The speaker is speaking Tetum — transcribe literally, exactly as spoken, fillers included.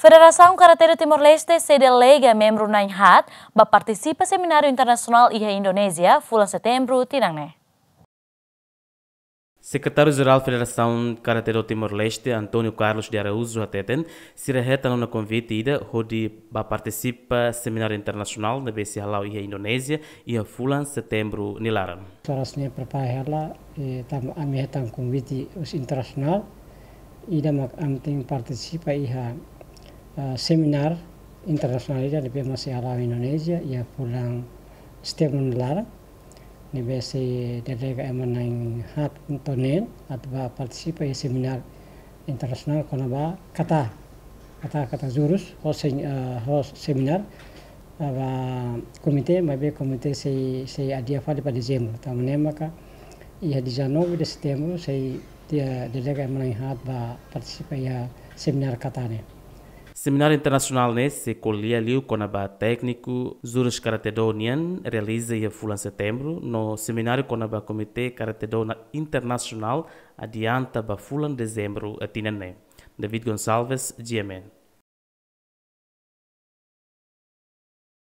Federasaun Karate do Timor-Leste sei delega membru na'in-haat ba partisipa semináriu internasionál iha Indonézia, fulan Setembru tinan ne'e. Sekretáriu Jerál Federasaun Karate do Timor-Leste, António Carlos de Araújo, hateten, sira hetan ona konvite ida hodi ba partisipa semináriu internasionál ne'ebé sei hala'o iha Indonézia iha fulan Setembru nia laran. Oras ne'e prepara hela, eh, tanba ami hetan konvite husi internasionál, ida mak ami tenke partisipa iha, eh, semináriu internasionál ida ne'ebé mak sei hala'o iha Indonézia iha fulan Setembru nia laran. Ne'ebé sei delega ema na'in-haat to'o neen atu ba partisipa iha semináriu internasionál kona-ba kata, kata, kata jurus, ho sen-, eh, ho semináriu, eh, ba komité, maibé komité sei, sei adia fali ba Dezembru. Tanba ne'e maka iha dezanove de Setembru sei delega ema na'in-haat ba partisipa iha semináriu kata ne'e. Semináriu internasionál ne'e sei ko'alia liu kona-ba tékniku jurus karate-do nian realiza iha fulan Setembru, no semináriu kona-ba Komité Karate-do na-, Internasionál adianta ba fulan Dezembru tinan ne'e. David Gonçalves, G M N.